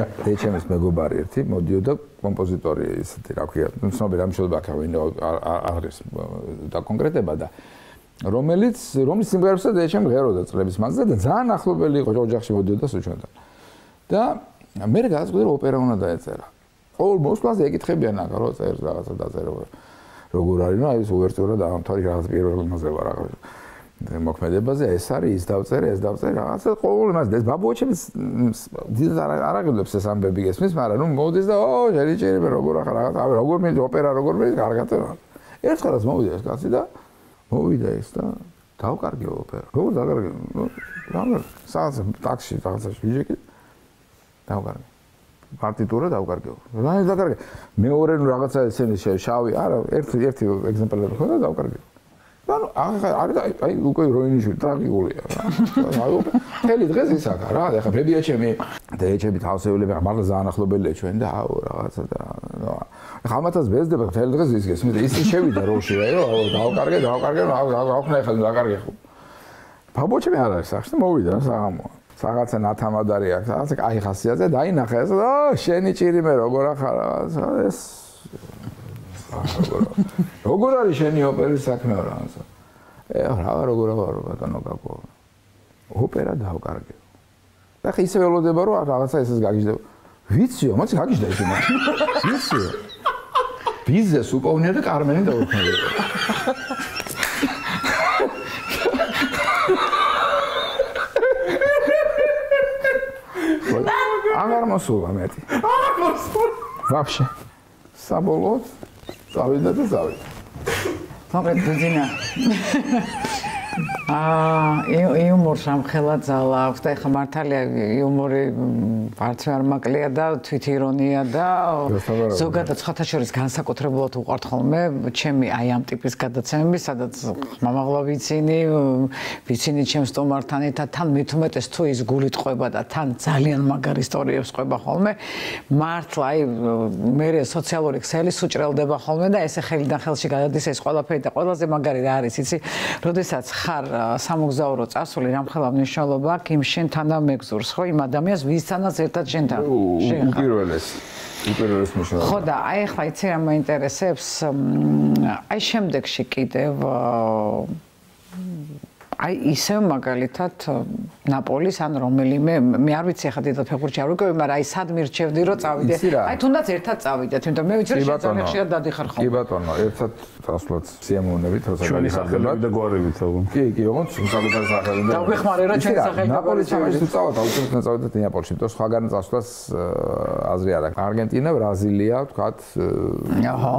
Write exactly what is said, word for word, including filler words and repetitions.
ეჩემის მეგობარი ერთი მოდიოდა კომპოზიტორი ისეთი რა ქვია ცნობილი ამშობლები აქ არ არის და კონკრეტება და რომელიც რომლის სიმღერებსაც ეჩემ ღეროდა წლების მანძილზე და ძალიან ახლობელი იყო ოჯახში მოდიოდა სუჩვენთან და მე გადაწყვიტე რომ ოპერა უნდა დაეწერა ყოველ მოსვლაზე ეკითხებიან აქ რო წერს რაღაცა დაწერო როგორ არის ნუ აი ეს უვერტურა დაამთავრე რაღაც პირველ მასზე ვარ რაღაც მოქმედებაზე ეს არის ის დავწერე ეს დავწერე რაღაცა ყოველ იმას ეს ბაბუაჩემის დიდ არ აღგლებს ეს ამბები გესმის მაგრამ ნუ მოდის და ო ჯერი ჯერი როგორ ახლა რაღაც აი როგორ მე ოპერა როგორ მე კარგად ერთხელაც მოვიდა ეს კაცი და მოვიდა ეს და დავკარგე ოპერა როგორ დავკარგე რა სადაც ტაქსში რაღაცაში ვიჯექი დავკარგე პარტიტურა დავკარგე რა დავკარგე მეორე ნუ რაღაცა ესენი შავი არა ერთი ერთი ეგზემპლარი ხო და დავკარგე ანუ აი აი უკვე როინიშვილი ტრაგიკულია რა. აი მთელი დღეს ის აქ რა, ეხლა ბებიაჩემი და ეჩები თავსეულები მართლა ძალიან ახლობელია ჩვენ და აუ რაღაცა და ეხლა ამათაც ბეზდება მთელი დღეს ის გესმის და ისე შევიდა როში რა, აუ დავკარგე, დავკარგე, აუხნა ეხლა დავკარგე ხო. ბაბუაჩემი არ არის სახში და მოვიდა საღამოა. რაღაცა ნათამადარი აქვს, რაღაცა კაი ხასიათზე და აინახა ეს და შენი ჭირი მე როგორ ახარ რაღაცა ეს როგორ არის შენი ოპერის საქმე რა ასე? ე რა როგორ აღარ ბატონო გაკო. ოპერა დავკარგე. და ხე ისე ველოდება რომ რაღაცა ესეს გაგიჟდება. ვიციო, მოდი გაგიჟდა ისე მაშინ. ვიციო. ბიზნეს უპოვნია და კარმენი დაუქმდა. აღარ მოსულა მეტი. აღარ მოსულა. ვაფშე. საბოლოოდ წავიდა და წავიდა. მოკლედ ძინა. აა იუმორს ამხელა ძალა აქვს და ეხლა მართალია იუმორი არც არ მაკლია და თვითირონია და ზოგადად სხვათა შორის განსაკუთრებულად უყვართ ხოლმე ჩემი აი ამ ტიპის გადაცემები, სადაც ხმამაღლა ვიცინი, ვიცინი ჩემს სტომართან ერთად, თან მithumetes თუ ის გულით ყვება და თან ძალიან მაგარ ისტორიებს ყვება ხოლმე. მართლა აი მე სოციალური ქსელი სუჭრელდება ხოლმე და ესე ხელიდან ხელში გადადის ეს ყველაფერი და ყველაზე მაგარი რა არის, იცი, როდესაც ხარ სამოგზაურო წასული რამხელა მნიშვნელობა აქვს იმ შენ თანამეგზურს ხო იმ ადამიანს ვისთანაც ერთად შენთან უპირველეს უპირველეს მნიშვნელობა ხო და აი ახლა იცი რა მაინტერესებს აი შემდეგში კიდევ აი ისე მაგალითად ნაპოლის ან რომელიმე მე არ ვიცი ახლა დიდად ფეხბურთში არ ვიკავი მაგრამ აი სად მირჩევდი რომ წავიდე აი თუნდაც ერთად წავიდეთ იმიტომ მე ვიცი რომ შეიძლება ხშირად დადიხარ ხოლმე კი ბატონო ერთად წასვლაც სიამოვნებით როცა გადიხარდება და გვარებით ალბათ კი კი ოღონდ საკუთარ სახელზე და ვეხმარე რა ჩვენ სახელზე ნაპოლის ჩავედი წავალ აუცილებლად წავედით ნეაპოლში და სხვაგან წასვლას აზრი არ აქვს არგენტინა ბრაზილია ვთქვათ აჰა